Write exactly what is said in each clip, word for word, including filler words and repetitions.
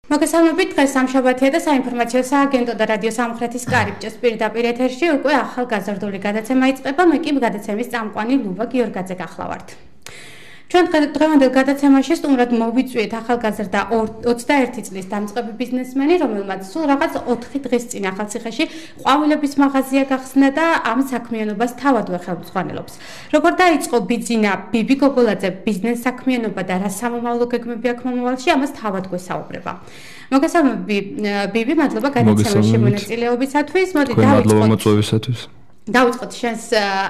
მოგესალმებით, დღეს სამშაბათია და საინფორმაციო სააგენტო და რადიო სამხრეთის კარიბჭეს პირდაპირ ეთერში უკვე ახალგაზრდული გადაცემა იწყება. მე კი გადაცემის წამყვანი ლუვა გიორგაძე გახლავართ. ჩვენ დღევანდელ გადაცემაში სტუმრად მოვიწვიეთ ახალგაზრდა ოცდაერთი წლის დამწყები ბიზნესმენი, რომელმაც სულ რაღაც ოთხი დღის წინ ახალციხეში ყვავილების მაღაზია გახსნა და ამ საქმიანობას თავადვე ხელმძღვანელობს. როგორ დაიწყო ბიძინა ბიბი გოგოლაძე ბიზნეს საქმიანობა და რა სამომავლო გეგმები აქვს მომავალში, ამას თავად გვესაუბრება. მოგესალმებით ბიბი, მადლობა გადაცემაში მონაწილეობისათვის. მოდი დავიწყოთ. დავიწყოთ შენს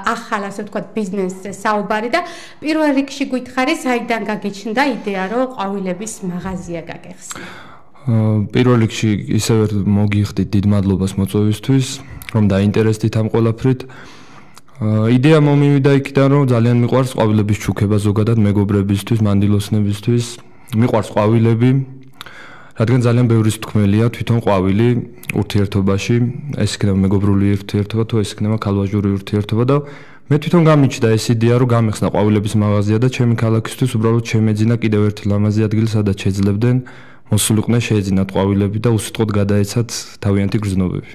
ახალ, ასე ვთქვათ, ბიზნესზე საუბარი და პირველ რიგში გითხარი, საიდან გაგიჩნდა იდეა, რომ ყვავილების მაღაზია გაგეხსნა? პირველ რიგში ისევ მოგიხდით დიდ მადლობას მოწვევისთვის, რომ დაინტერესდით ამ ყველაფრით. იდეა მომივიდა იქიდან, რომ ძალიან მიყვარს ყვავილების ჩუქება ზოგადად მეგობრებისთვის, მანდილოსნებისთვის. მიყვარს ყვავილები. რადგან ძალიან ბევრი თქმელია თვითონ ყვავილი ურთიერთობაში, ეს იქნება მეგობრული ურთიერთობა თუ ეს იქნება ქალვაჟური ურთიერთობა და მე თვითონ გამიჩნდა ეს იდეა, რომ გამეხსნა ყვავილების მაღაზია და ჩემი ქალაქისთვის უბრალოდ შემეძინა კიდევ ერთი ლამაზი ადგილი, სადაც შეძლებდნენ მოსულიყვნენ შეეძინათ ყვავილები და უსიტყვოდ გადაეცათ თავიანთი გრძნობები.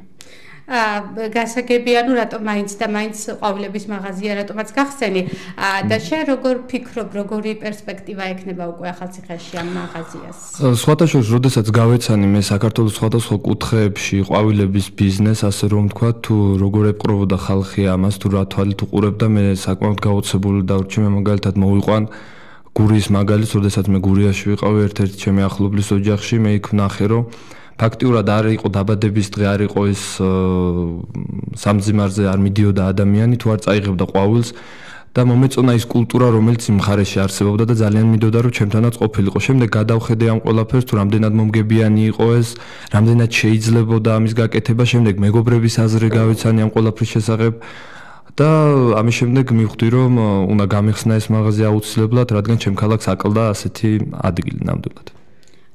აა გასაგებია, ნუ რატომ მაინც და მაინც ყვავილების მაღაზია რატომაც გახსენი და შენ როგორ ფიქრობ, როგორი პერსპექტივა ექნება უკვე ახალციხეში ამ მაღაზიას? სხვათა შორის, როდესაც გავეცანი მე საქართველოს სხვადასხვა კუთხეებში ყვავილების ბიზნეს, ასე რომ ვთქვა, თუ როგორ ეპყრობოდა ხალხი ამას, თუ რა თვალით უყურებდა, მე საკმაოდ გაოცებული დავრჩი. მე მაგალითად მოვიყვან გურიის მაგალითს, როდესაც მე გურიაში ვიყავი ერთ-ერთი ჩემი ახლობლის ოჯახში, მე იქ ვნახე, რომ ფაქტიურად არ იყო დაბადების დღე, არ იყო ეს სამძიმარზე არ მიდიოდა ადამიანი, თუ არ წაიღებდა ყვავილს და მომეწონა ის კულტურა, რომელიც იმ მხარეში არსებობდა და ძალიან მინდოდა, რომ ჩემთანაც ყოფილიყო. შემდეგ გადავხედე ამ ყველაფერს, თუ რამდენად მომგებიანი იყო ეს, რამდენად შეიძლებოდა ამის გაკეთება. შემდეგ მეგობრების აზრი გავიცანი ამ ყველაფრის შესახებ და ამის შემდეგ მივხვდი, რომ უნდა გამეხსნა ეს მაღაზია აუცილებლად, რადგან ჩემ ქალაქს აკლდა ასეთი ადგილი ნამდვილად.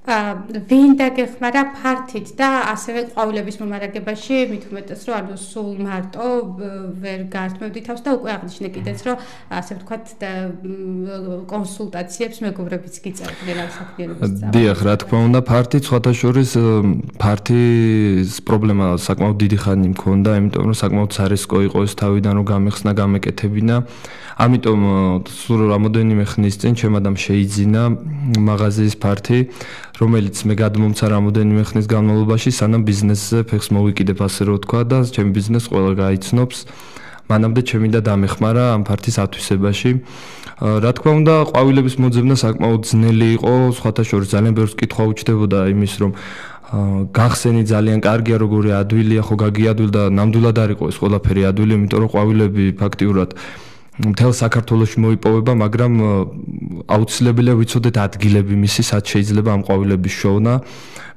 ვინ დაგეხმარა ფართით და ასევე ყვავილების მომარაგებაში, მით უმეტეს, რომ ანუ სულ მარტო ვერ გართმევდი თავს და უკვე აღნიშნე კიდეც, რომ ასე ვთქვათ კონსულტაციებს მეგობრებიც გიწერდნენ ამ საქმიანობის წამყვანად. დიახ, რა თქმა უნდა, ფართით სხვათა შორის ფართის პრობლემა საკმაოდ დიდი ხანი მქონდა, იმიტომ რომ საკმაოდ სარისკო იყო ეს თავიდან რომ გამეხსნა, გამეკეთებინა. ამიტომ სულ რამოდენიმე ხნის წინ ჩემ ადამ შეიძინა მაღაზიის ფართი, რომელიც მე გადმომცა რამოდენიმე ხნის განმავლობაში, სანამ ბიზნესზე ფეხს მოვიკიდებ, ასე რომ ვთქვა და ჩემი ბიზნეს ყველა გაიცნობს. მანამდე ჩემი და დამეხმარა ამ ფართის ათვისებაში. რა თქმა უნდა, ყვავილების მოძებნა საკმაოდ ძნელი იყო, სხვათა შორის ძალიან ბევრს კითხვა უჩნდებოდა იმის, რომ გახსენი ძალიან კარგია, როგორი ადვილია, ხო გაგიადვილ და ნამდვილად არ იყო ეს ყველაფერი ადვილი, იმიტომ რომ ყვავილები ფაქტიურად მთელ საქართველოში მოიპოვება, მაგრამ აუცილებელია ვიცოდეთ ადგილები მისი, სად შეიძლება ამ ყვავილების შოვნა.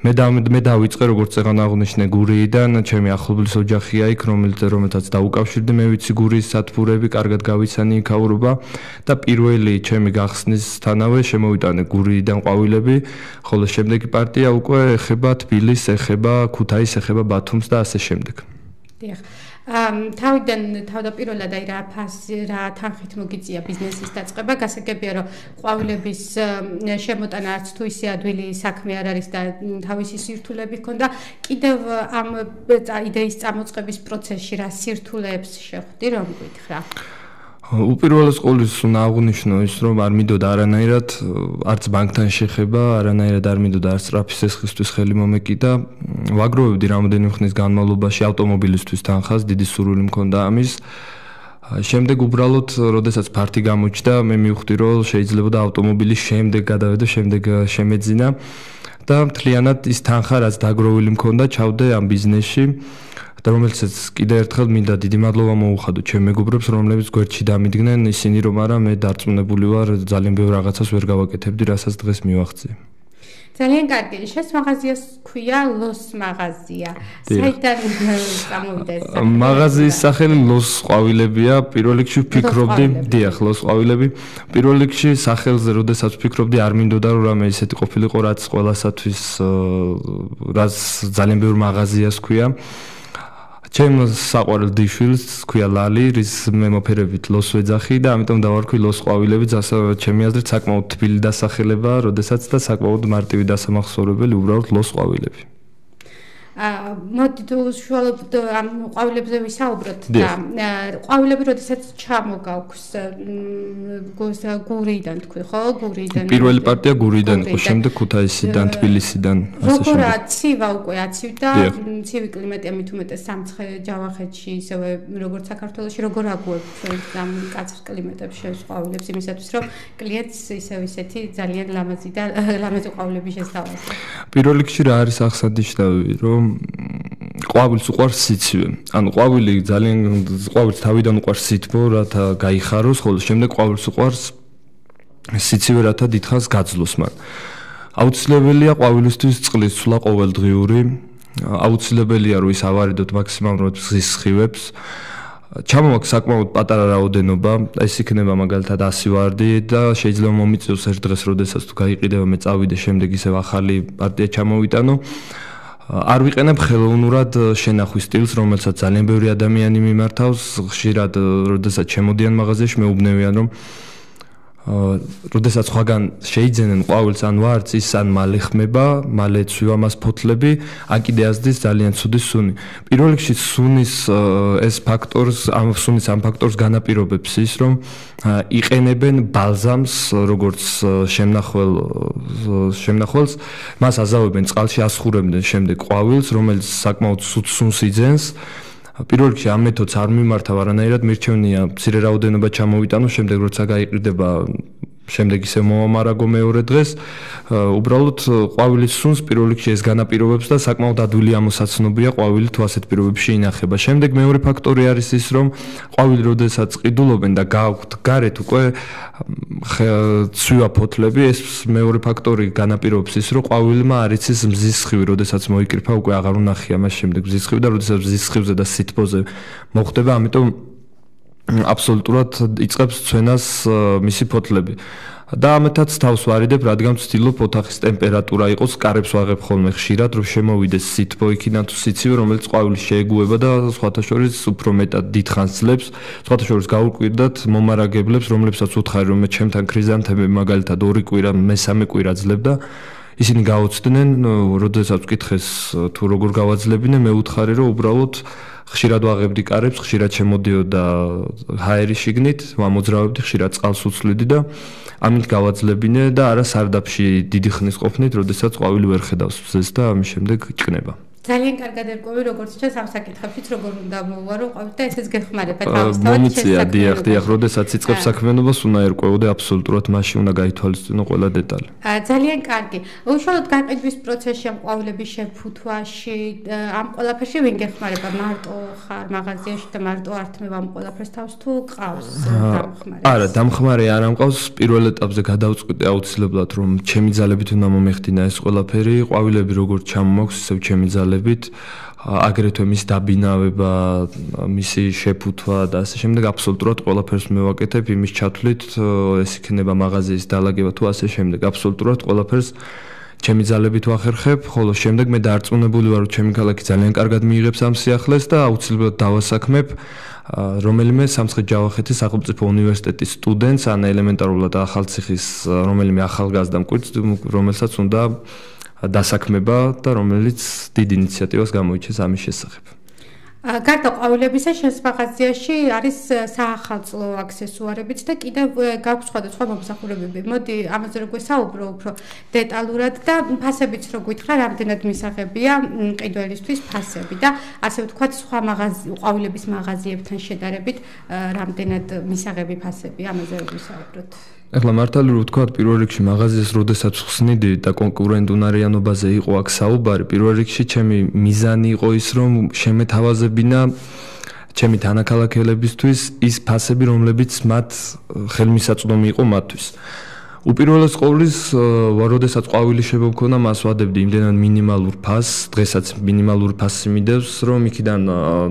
მე და მე დავიწყე, როგორც წეგან აღნიშნე, გურიიდან, ჩემი ახლობლის ოჯახია იქ, რომელთაც დაუკავშირდი, მე ვიცი გურიის სათბურები, კარგად გავიცანი იქაურობა და პირველი ჩემი გახსნისთანავე შემოვიტანე გურიიდან ყვავილები, ხოლო შემდეგი პარტია უკვე ეხება თბილისს, ეხება ქუთაისს, ეხება ბათუმს და ასე შემდეგ. დიახ. თავიდან თავდაპირველად აი რა ფასი, რა თანხით მოგიწია ბიზნესის დაწყება, გასაგებია, რომ ყვავილების შემოტანა არც თუ ისე ადვილი საქმე არ არის და თავისი სირთულეები ჰქონდა. კიდევ ამ იდეის წამოწყების პროცესში რა სირთულეებს შეხვდი, რომ გითხრა? უპირველეს ყოვლისა უნდა აღვნიშნო ის, რომ არ მინდოდა არანაირად არც ბანკთან შეხება, არანაირად არ მინდოდა არც სწრაფი სესხისთვის ხელი მომეკიდა. ვაგროვებდი რამოდენიმე ხნის განმავლობაში ავტომობილისთვის თანხას, დიდი სურვილი მქონდა ამის. შემდეგ უბრალოდ, როდესაც ფართი გამოჩნდა, მე მივხვდი, რომ შეიძლება და ავტომობილის შემდეგ გადავედე, შემდეგ შემეძინა და მთლიანად ის თანხა, რაც დაგროვილი მქონდა, ჩავდე ამ ბიზნესში. და რომელსაც კიდევ ერთხელ მინდა დიდი მადლობა მოუხადო ჩემ მეგობრებს, რომლებიც გვერდში დამიდგნენ, ისინი რომ არა, მე დარწმუნებული ვარ, ძალიან ბევრ რაღაცას ვერ გავაკეთებდი, რასაც დღეს მივახციე. ძალიან კარგი. შენს მაღაზიას ქვია ლოს მაღაზია. საიდან წამოვიდა ეს სახელი? მაღაზიის სახელი ლოს ყვავილებია. პირველ რიგში ვფიქრობდი, დიახ, ლოს ყვავილები. პირველ რიგში სახელზე, როდესაც ვფიქრობდი, არ მინდოდა რომ რამე ისეთი ყოფილიყო, რაც ყველასათვის რაც ძალიან ბევრ მაღაზიას ქვია. ჩემ საყვარელ დიშვილს ქვია ლალი, რის მე მოფერებით ლოს ვეძახი და ამიტომ დავარქვი ლოს ყვავილებიც, ასე ჩემი აზრით საკმაოდ თბილი დასახელებაა, როდესაც და საკმაოდ მარტივი დასამახსოვრებელი უბრალოდ ლოს ყვავილები. აა მოდი თუ უშუალოდ ამ ყვავილებზე ვისაუბროთ და ყვავილები როდესაც ჩამოგაქვს გურიდან თქვი ხო გურიდან პირველი პარტია გურიდან იყო შემდეგ ქუთაისიდან თბილისიდან ასე შემდეგ როგორ აცივა უკვე აცივდა ცივი კლიმატი ამით უმეტეს სამცხე ჯავახეთში ისევე როგორც საქართველოში როგორ აგუებთ ამ კაცრ კლიმატებში შენს ყვავილებს იმისათვის რომ კლიენტს ისევ ისეთი ძალიან ლამაზი და ლამაზი ყვავილები შესთავაზო პირველ რიგში რა არის აღსანიშნავი რომ ყვავილს უყვარს სიცივე. ანუ ყვავილი ძალიან ყვავილს თავიდან უყვარს სითბო, რათა გაიხაროს, ხოლო შემდეგ ყვავილს უყვარს სიცივე, რათა დიდხანს გაძლოს მან. აუცილებელია ყვავილისთვის წყლის ცვლა ყოველდღიური. აუცილებელია რომ ის ავარიდოთ მაქსიმალურად მზის სხივებს. ჩამოვაქვს საკმაოდ პატარა რაოდენობა, ეს იქნება მაგალითად ასი ვარდი და შეიძლება მომიწევს ერთ დღეს, როდესაც თუ გაიყიდება მე წავიდე, შემდეგ ისევ ახალი პარტია ჩამოვიტანო. არ ვიყენებ ხელოვნურად შენახვის სტილს, რომელსაც ძალიან ბევრი ადამიანი მიმართავს, ხშირად როდესაც შემოდიან მაღაზიაში, მეუბნევიან რომ როდესაც სხვაგან შეიძენენ ყვავილს ან ვარდს, ის ან მალე ხმება, მალე ცვივა მას ფოთლები, ან კიდე ასდის ძალიან ცუდი სუნი. პირველ რიგში სუნის ეს ფაქტორს, ამ სუნის ამ ფაქტორს განაპირობებს ის, რომ იყენებენ ბალზამს, როგორც შემნახვალ შემნახვალს, მას აზავებენ წყალში, ასხურებდნენ შემდეგ ყვავილს, რომელიც საკმაოდ სուთ სუნს იძენს. პირველ რიგში ამ მეთოდს არ მიმართავ არანაირად, მირჩევნია მცირე რაოდენობა ჩამოვიტანო, შემდეგ როცა გაიყრიდება, შემდეგ ისე მომამარაგო მეორე დღეს, უბრალოდ ყვავილის სუნს პირველ რიგში ეს განაპირობებს და საკმაოდ ადვილი ამოსაცნობია ყვავილი თუ ასეთ პირობებში ინახება. შემდეგ მეორე ფაქტორი არის ის, რომ ყვავილი როდესაც ყიდულობენ და გააქვთ გარეთ უკვე ცვივა ფოთლები, ეს მეორე ფაქტორი განაპირობებს ის, რომ ყვავილმა არ იცის მზის სხივი, როდესაც მოიკრიფა, უკვე აღარ უნახია მას შემდეგ მზის სხივი და როდესაც მზის სხივზე და სითბოზე მოხდება, ამიტომ აბსოლუტურად იწყებს ცვენას მისი ფოთლები. და ამეთაც თავს ვარიდებ, რადგან ვცდილობ ოთახის ტემპერატურა იყოს, კარებს ვაღებ ხოლმე ხშირად, რომ შემოვიდეს სითბო იქიდან თუ სიცივე, რომელიც ყვავილს შეეგუება და სხვათა შორის უფრო მეტად დიდხანს ძლებს, სხვათა შორის გაუკვირდათ მომარაგებლებს, რომლებსაც უთხარი, რომ მე ჩემთან ქრიზანთემები მაგალითად ორი კვირა, მესამე კვირა ძლებდა, ისინი გაოცდნენ, როდესაც ვკითხეს თუ როგორ გავაძლებინე, მე უთხარი, რომ უბრალოდ ხშირად ვაღებდი კარებს, ხშირად შემოდიოდა ჰაერი შიგნით, ვამოძრავებდი, ხშირად წყალს უცვლიდი და ამით გავაძლებინე და არა სარდაფში დიდი ხნის ყოფნით, როდესაც ყვავილი ვერ ხედავს მზეს და ამის შემდეგ იჭკნება. ძალიან კარგად ერკვევი, როგორც ჩანს ამ საკითხებშიც როგორ უნდა მოვარო ყვავილი და ესეც გეხმარება თავისთავად. მომიწია, დიახ, დიახ, როდესაც იწყებს საქმიანობას, უნდა ერკვევოდე აბსოლუტურად მასში უნდა გაითვალისწინო ყველა დეტალი. ძალიან კარგი. უშუალოდ გაყიდვის პროცესში ამ ყვავილების შეფუთვაში, ამ ყველაფერში ვინ გეხმარება? მარტო ხარ მაღაზიაში და მარტო ართმევ ამ ყველაფერს თავს თუ ყავს დამხმარე? არა, დამხმარე არ ამყავს. პირველ ეტაპზე გადავწყვიტე აუცილებლად, რომ ჩემი ძალებით უნდა მომეხდინა ეს ყველაფერი, ყვავილები როგორც ჩამომაქვს, ისევ ჩემი ძალებით აგრეთვე მის დაბინავება, მისი შეფუთვა და ასე შემდეგ აბსოლუტურად ყველაფერს მევაკეთებ იმის ჩათვლით, ეს იქნება მაღაზიის დალაგება თუ ასე შემდეგ, აბსოლუტურად ყველაფერს ჩემი ძალებით ვახერხებ, ხოლო შემდეგ მე დარწმუნებული ვარ, რომ ჩემი ქალაქი ძალიან კარგად მიიღებს ამ სიახლეს და აუცილებლად დავასაქმებ რომელიმე სამცხე-ჯავახეთის სახელმწიფო უნივერსიტეტის სტუდენტს, ან ელემენტარულად ახალციხის რომელიმე ახალგაზრდა მკვიდრს, რომელსაც უნდა დასაქმება და რომელიც დიდ ინიციატივას გამოიჩენს ამის შესახებ. გარდა ყვავილებისა, შენს მაღაზიაში არის საახალწლო აქსესუარებიც და კიდევ გაქვს სხვადასხვა მომსახურებები. მოდი ამაზე რო გვესაუბრო უფრო დეტალურად და ფასებიც რო გითხრა, რამდენად მისაღებია ყიდველისთვის ფასები და ასე ვთქვათ, სხვა მაღაზი ყვავილების მაღაზიებთან შედარებით, რამდენად მისაღები ფასები, ამაზე რო გვესაუბროთ. ეხლა მართალი რო ვთქვათ, პირველ რიგში მაღაზიას როდესაც ხსნიდი და კონკურენტუნარიანობაზე იყო აქ საუბარი, პირველ რიგში ჩემი მიზანი იყო ის, რომ შემეთავაზებინა ჩემი თანაქალაქელებისთვის ის ფასები, რომლებიც მათ ხელმისაწვდომი იყო მათთვის. უპირველეს ყოვლის, როდესაც ყვავილი შემოვქონა, მას ვადებდი იმდენად მინიმალურ ფასს, დღესაც მინიმალური ფასი მიდევს, რომ იქიდან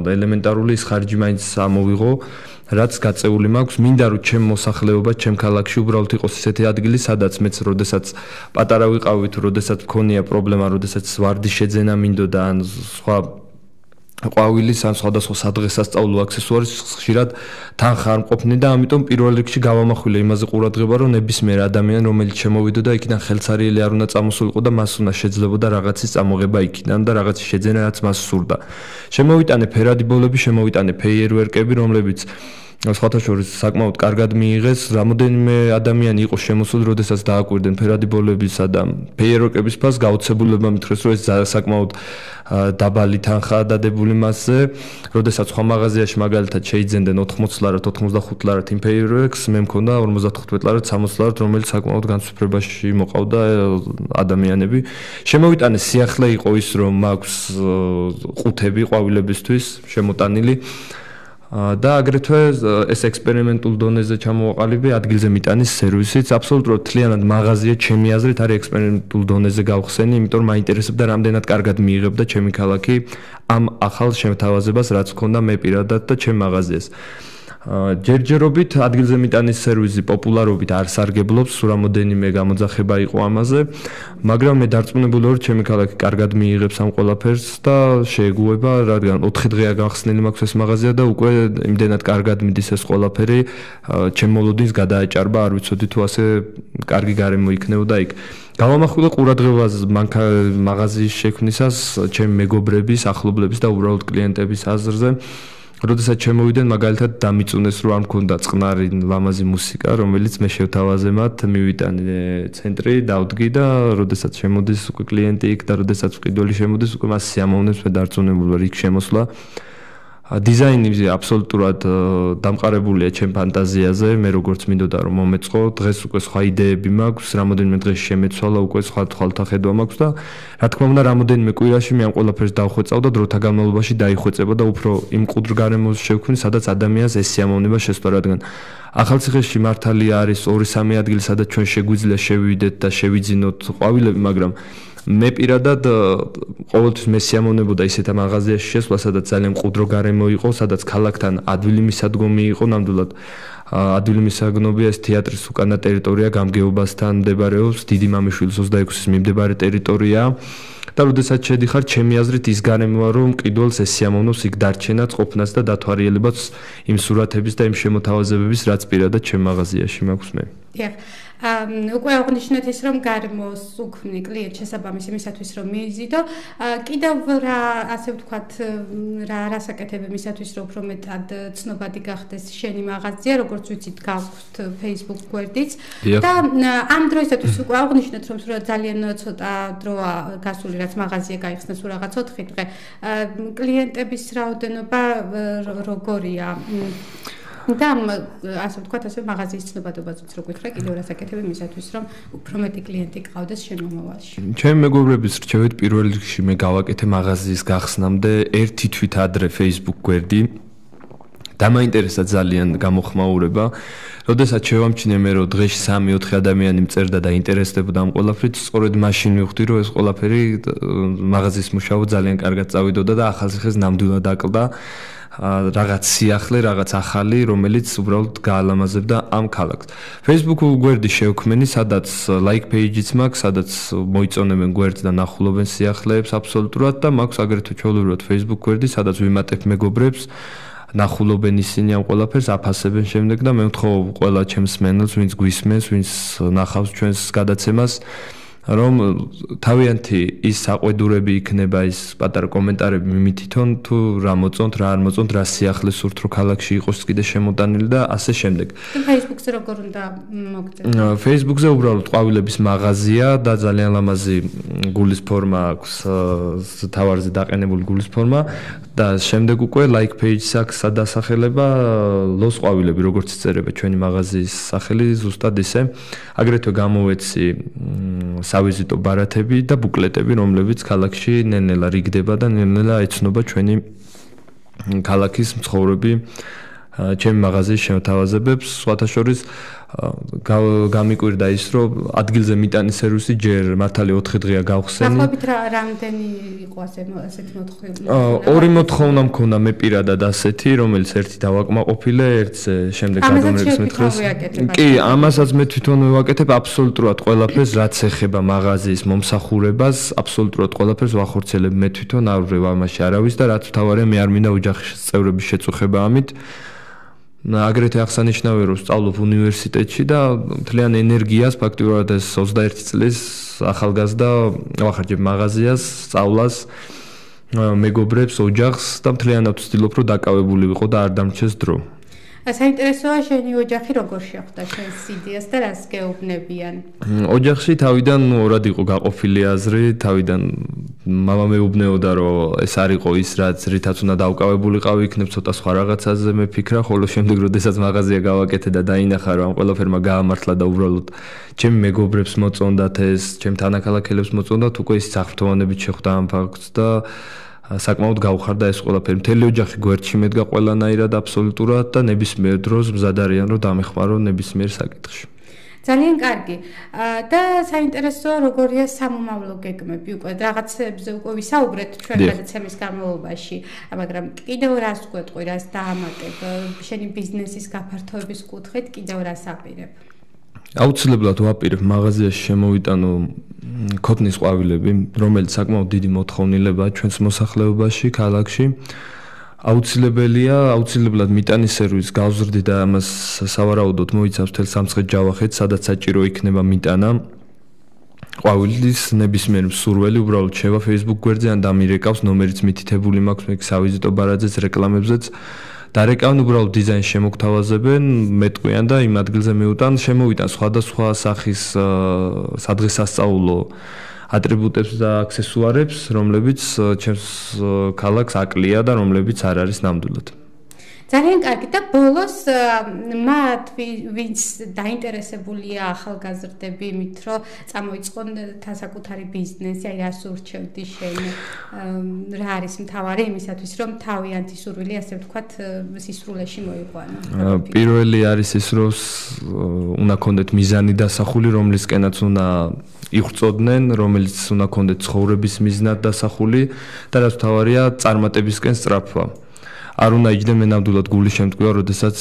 ელემენტარული ის ხარჯი მაინც ამოვიღო. რაც გაწეული მაქვს, მინდა რომ ჩემ მოსახლეობა, ჩემ ქალაქში უბრალოდ იყოს ისეთი ადგილი, სადაც მეც როდესაც პატარა ვიყავი თუ როდესაც მქონია პრობლემა, როდესაც ვარდის შეძენა მინდოდა ან სხვა ყვავილის ან სხვადასხვა სადღესასწაულო აქსესუარის ხშირად თანხა არ მყოფნი და ამიტომ პირველ რიგში გავამახვილე იმაზე ყურადღება, რომ ნებისმიერ ადამიანი, რომელიც შემოვიდოდა იქიდან ხელცარიელი არ უნდა წამოსულიყო და მას უნდა შეძლებოდა რაღაცის წამოღება იქიდან და რაღაცის შეძენა, რაც მას სურდა. შემოვიტანე ფერადი ბოლები, შემოვიტანე ფეიერვერკები, რომლებიც სხვათა შორის საკმაოდ კარგად მიიღეს. რამოდენიმე ადამიანი იყო შემოსული, როდესაც დააკვირდნენ ფერადი ბოლებისა და ფეიერვერკების ფასს, გაოცებულება მითხრეს, რომ ეს საკმაოდ დაბალი თანხაა დადებული მასზე. როდესაც სხვა მაღაზიაში მაგალითად შეიძენდნენ ოთხმოცი ლარად, ოთხმოცდახუთი ლარად იმ ფეიერვერკს, მე მქონდა ორმოცდათხუთმეტ ლარად, სამოცი ლარად, რომელიც საკმაოდ განსუფრებაში მოყავდა ადამიანები. შემოვიტანე სიახლე იყო ის, რომ მაქვს ყუთები ყვავილებისთვის შემოტანილი. და აგრეთვე ეს ექსპერიმენტულ დონეზე ჩამოვაყალიბე ადგილზე მიტანის სერვისიც. აბსოლუტურად მთლიანად მაღაზია ჩემი აზრით არის ექსპერიმენტულ დონეზე გავხსენი, იმიტომ რომ მაინტერესებდა რამდენად კარგად მიიღებდა ჩემი ქალაქი ამ ახალ შემთავაზებას, რაც მქონდა მე პირადად და ჩემ მაღაზიას. ჯერჯერობით ადგილზე მიტანის სერვისი პოპულარობით არ სარგებლობს, რამოდენიმე გამოძახება იყო ამაზე, მაგრამ მე დარწმუნებული ვარ, ჩემი ქალაქი კარგად მიიღებს ამ ყველაფერს და შეეგუება, რადგან ოთხი დღეა გახსნილი მაქვს ეს მაღაზია და უკვე იმდენად კარგად მიდის ეს ყველაფერი, ჩემ მოლოდინს გადააჭარბა, არ ვიცოდი თუ ასე კარგი გარემო იქნებოდა იქ. გავამახვილე ყურადღებას მაღაზიის შექმნისას ჩემი მეგობრების, ახლობლების და უბრალოდ კლიენტების აზრზე. როდესაც შემოვიდნენ მაგალითად დამიწუნეს რომ არ მქონდა წყნარი ლამაზი მუსიკა, რომელიც მე შევთავაზე მათ, მივიტანე ცენტრი, დავდგი და როდესაც შემოდის უკვე კლიენტი იქ და როდესაც მყიდველი შემოდის, უკვე მას სიამოვნებს მე დარწმუნებული ვარ იქ შემოსვლა. დიზაინი აბსოლუტურად დამყარებულია ჩემ ფანტაზიაზე, მე როგორც მინდოდა რომ მომეწყო, დღეს უკვე სხვა იდეები მაქვს, რამოდენიმე დღეში შემეცვალა, უკვე სხვა თვალთა ხედვა მაქვს და რა თქმა უნდა, რამოდენიმე კვირაში მე ამ ყველაფერს დავხვეწავ და დროთა განმავლობაში დაიხვეწება და უფრო იმ ყუდრ გარემოს შევქმნი, სადაც ადამიანს ეს სიამოვნება შესწვა, რადგან ახალციხეში მართალია არის ორი სამი ადგილი, სადაც ჩვენ შეგვიძლია შევიდეთ და შევიძინოთ ყვავილები, მაგრამ მე პირადად ყოველთვის მე სიამოვნებოდა ისეთ მაღაზიაში შესვლა, სადაც ძალიან მყუდრო გარემო იყო, სადაც ქალაქთან ადვილი მისადგომი იყო, ნამდვილად ადვილი მისაგნობია ეს თეატრის უკანა ტერიტორია გამგეობასთან მდებარეობს, დიდი მამიშვილის ოცდაექვსის მიმდებარე ტერიტორია და როდესაც შედიხარ, ჩემი აზრით ის გარემოა, რომ მყიდველს ეს სიამოვნოს იქ დარჩენა, ყოფნას და დათვალიერებას იმ სურათების და იმ შემოთავაზებების, რაც პირადად ჩემ მაღაზიაში მაქვს მე. დიახ. უკვე აღნიშნეთ ის, რომ გარემოს უქმნი კლიენტ შესაბამის იმისათვის, რომ მიიზიდო. კიდევ რა, ასე ვთქვათ, რა რასაკეთებ იმისათვის, რომ უფრო მეტად ცნობადი გახდეს შენი მაღაზია, როგორც ვიცით, გაქვთ Facebook გვერდიც და ამ დროისათვის უკვე აღნიშნეთ, რომ სულ ძალიან ცოტა დროა გასული, რაც მაღაზია გაიხსნა, სულ რაღაც ოთხი დღე. კლიენტების რაოდენობა როგორია? და ასე ვთქვათ, ასე მაღაზიის ცნობადობაზეც რო გითხრა, კიდევ რასაკეთებ იმისათვის, რომ უფრო მეტი კლიენტი გყავდეს შენ მომავალში. ჩემი მეგობრების რჩევით პირველ რიგში მე გავაკეთე მაღაზიის გახსნამდე ერთი თვით ადრე Facebook გვერდი. დამაინტერესა ძალიან გამოხმაურება. როდესაც შევამჩნიე მე რომ დღეში სამი ოთხი ადამიანი მწერდა და ინტერესდებოდა ამ ყველაფრით, სწორედ მაშინ მივხვდი რომ ეს ყველაფერი მაღაზიის მუშაობა ძალიან კარგად წავიდოდა და ახალციხეს ნამდვილად აკლდა. რაღაც სიახლე, რაღაც ახალი, რომელიც უბრალოდ გაალამაზებდა ამ ქალაქს. Facebook გვერდი შევქმენი, სადაც like page-იც მაქვს, სადაც მოიწონებენ გვერდს და ნახულობენ სიახლეებს აბსოლუტურად და მაქვს აგრეთვე ჩვეულებრივად Facebook გვერდი, სადაც ვიმატებ მეგობრებს, ნახულობენ ისინი ამ ყველაფერს, აფასებენ შემდეგ და მე ვთხოვ ყველა ჩემს მენელს, ვინც გვისმენს, ვინც ნახავს ჩვენს გადაცემას, რომ თავიანთი ის საყვედურები იქნება, ის პატარა კომენტარები მიმითითონ, თუ რა მოწონთ, რა არ მოწონთ, რა სიახლე სურთ, რომ ქალაქში იყოს კიდე შემოტანილი და ასე შემდეგ. Facebook-ზე როგორ უნდა მოგწევთ? Facebook-ზე უბრალოდ ყვავილების მაღაზია და ძალიან ლამაზი გულის ფორმა აქვს, თავარზე დაყენებული გულის ფორმა და შემდეგ უკვე like page-ს აქვს სადასახელება ლოს ყვავილები, როგორც წერება ჩვენი მაღაზიის სახელი, ზუსტად ისე. აგრეთვე გამოვეცი სავიზიტო ბარათები და ბუკლეტები, რომლებიც ქალაქში ნელ-ნელა რიგდება და ნელ-ნელა ეცნობა ჩვენი ქალაქის მცხოვრები ჩემი მაღაზიის შემოთავაზებებს. სხვათა შორის გამიკვირდა ის, რომ ადგილზე მიტანის სერვისი ჯერ მართალი ოთხი დღეა გავხსენი. ახობით რამდენი იყო ასე ასეთი მოთხოვნა? ორი მოთხოვნა მქონდა მე პირადად ასეთი, რომელიც ერთი დავაკმაყოფილე, ერთზე შემდეგ გადამრეკს მეთხრეს. კი, ამასაც მე თვითონ ვაკეთებ აბსოლუტურად ყველაფერს, რაც ეხება მაღაზიის მომსახურებას, აბსოლუტურად ყველაფერს ვახორციელებ მე თვითონ, არ ვრევ ამაში არავის და რაც თავარია მე არ მინდა ოჯახის წევრების შეწუხება ამით. აგრეთვე აღსანიშნავია რომ სწავლობ უნივერსიტეტში და მთლიან ენერგიას ფაქტიურად ეს ოცდაერთი წლის ახალგაზრდა ვახარჯებ მაღაზიას, სწავლას, მეგობრებს, ოჯახს და მთლიანად ვცდილობ რომ დაკავებული ვიყო და არ დამრჩეს დრო. საინტერესოა შენი ოჯახი როგორ შეხვდა შენს იდეას და რას გეუბნებიან? ოჯახში თავიდან ორად იყო გაყოფილი აზრი, თავიდან მამა მეუბნეოდა რომ ეს არ იყო ის რაც რითაც უნდა დავკავებულიყავი, იქნებ ცოტა სხვა რაღაცაზე მეფიქრა, ხოლო შემდეგ როდესაც მაღაზია გავაკეთე და დაინახა რომ ამ ყველაფერმა გაამართლა და უბრალოდ ჩემი მეგობრებს მოწონდათ ეს, ჩემ თანაქალაქელებს მოწონდათ, უკვე ის საფრთხოვნებით შეხვდა ამ ფაქტს და საკმაოდ გავხარდა ეს ყველაფერი. მთელი ოჯახი გვერდში მედგა ყველანაირად აბსოლუტურად და ნებისმიერ დროს მზად არიან რომ დამეხმარონ ნებისმიერ საკითხში. ძალიან კარგი. და საინტერესოა როგორია სამომავლო გეგმები უკვე რაღაცებზე უკვე ვისაუბრეთ ჩვენ გადაცემის განმავლობაში, მაგრამ კიდევ რას გვეტყვი, რას დაამატებ შენი ბიზნესის გაფართოების კუთხით, კიდევ რას აპირებ? აუცილებლად ვაპირებ მაღაზიაში შემოვიტანო ქოთნის ყვავილები, რომელიც საკმაოდ დიდი მოთხოვნილებაა ჩვენს მოსახლეობაში, ქალაქში. აუცილებელია, აუცილებლად მიტანის სერვისს გავზრდი და ამას სავარაუდოდ მოიცავს მთელ სამცხე-ჯავახეთს, სადაც საჭირო იქნება მიტანა. ყვავილის ნებისმიერ მსურველი უბრალოდ შევა Facebook გვერდზე ან დამირეკავს, ნომერიც მითითებული მაქვს, მე სავიზიტო ბარაძეც, რეკლამებზეც. დარეკავენ უბრალოდ დიზაინს შემოგთავაზებენ, მეტყვიან და იმ ადგილზე მიუტან, შემოვიტან სხვადასხვა სახის სადღესასწაულო ატრიბუტებს და აქსესუარებს, რომლებიც ჩემს ქალაქს აკლია და რომლებიც არ არის ნამდვილად. ძალიან კარგი და ბოლოს მათ ვინც დაინტერესებულია ახალგაზრდები იმით რომ წამოიწყონ თასაკუთარი ბიზნესი, აი რას ურჩევდი შენ, რა არის მთავარი იმისათვის რომ თავიანთი სურვილი ასე ვთქვათ სისრულეში მოიყვანო? პირველი არის ის რომ უნდა ქონდეთ მიზანი დასახული, რომლისკენაც უნდა იღვწოდნენ, რომელიც უნდა ქონდეთ ცხოვრების მიზნად დასახული და რაც მთავარია წარმატებისკენ სწრაფვა. არ უნდა იჯდე ნამდვილად გული შემტკივა, როდესაც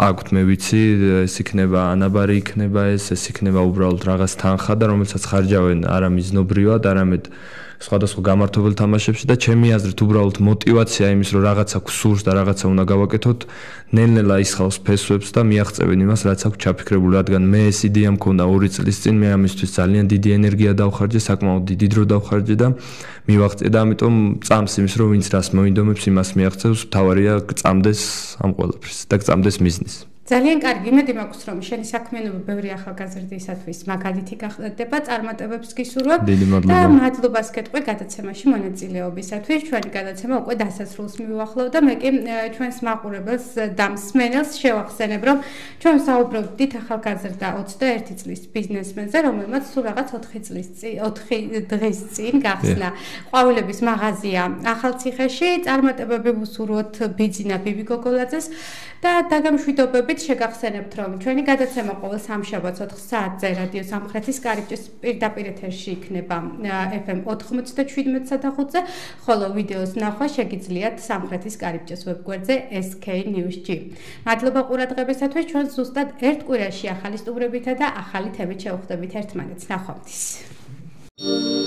აქვთ მე ვიცი, ეს იქნება ანაბარი იქნება ეს, ეს იქნება უბრალოდ რაღაც თანხა და რომელსაც ხარჯავენ არა მიზნობრივად, არამედ სხვადასხვა გამართობელ თამაშებში და ჩემი აზრით უბრალოდ мотиваცია იმის რომ რაღაცა გსურს და რაღაცა უნდა გავაკეთოთ, ნელ-ნელა ისხავს ფესვებს და მიაღწევენ იმას, რაც აქვს ჩაფიქრებული, რადგან მე ეს იდეა მქონდა ორი წლის წინ, მე ამისთვის ძალიან დიდი ენერგია დავხარჯე, საკმაოდ დიდი დრო დავხარჯე და მივაღწია და ამიტომ წამს იმის რომ ვინც რას მოინდომებს, იმას მიაღწევს, თავარია გწამდეს ამ ყველაფერს და გწამდეს მიზნის. ძალიან კარგი, იმედი მაქვს რომ შენი საქმიანობა ბევრი ახალგაზრდისათვის მაგალითი გახდება, წარმატებებს გისურვებ და მადლობას გეტყვი გადაცემაში მონაწილეობისათვის. ჩვენი გადაცემა უკვე დასასრულს მივუახლოვ და მე კი ჩვენს მაყურებელს და მსმენელს შევახსენებ, რომ ჩვენ საუბრობდით ახალგაზრდა ოცდაერთი წლის ბიზნესმენზე, რომელმაც სულ რაღაც ოთხი წლის წინ, ოთხი დღის წინ გახსნა ყვავილების მაღაზია ახალციხეში. წარმატებები ვუსურვოთ ბიძინა ბიბი გოგოლაძეს და დაგემშვიდობებით შეგახსენებთ, რომ ჩვენი გადაცემა ყოველ სამშაბათს ოთხ საათზე რადიო სამხრეთის კარიბჭის პირდაპირ ეთერში იქნება ეფ ემ ოთხმოცდაშვიდ საათზე, ხოლო ვიდეოს ნახვა შეგიძლიათ სამხრეთის კარიბჭის ვებგვერდზე ეს კეი ნიუს ჯი. მადლობა ყურადღებისათვის, ჩვენ ზუსტად ერთ კვირაში ახალი სტუმრებითა და ახალი თემით შევხვდებით ერთმანეთს. ნახვამდის.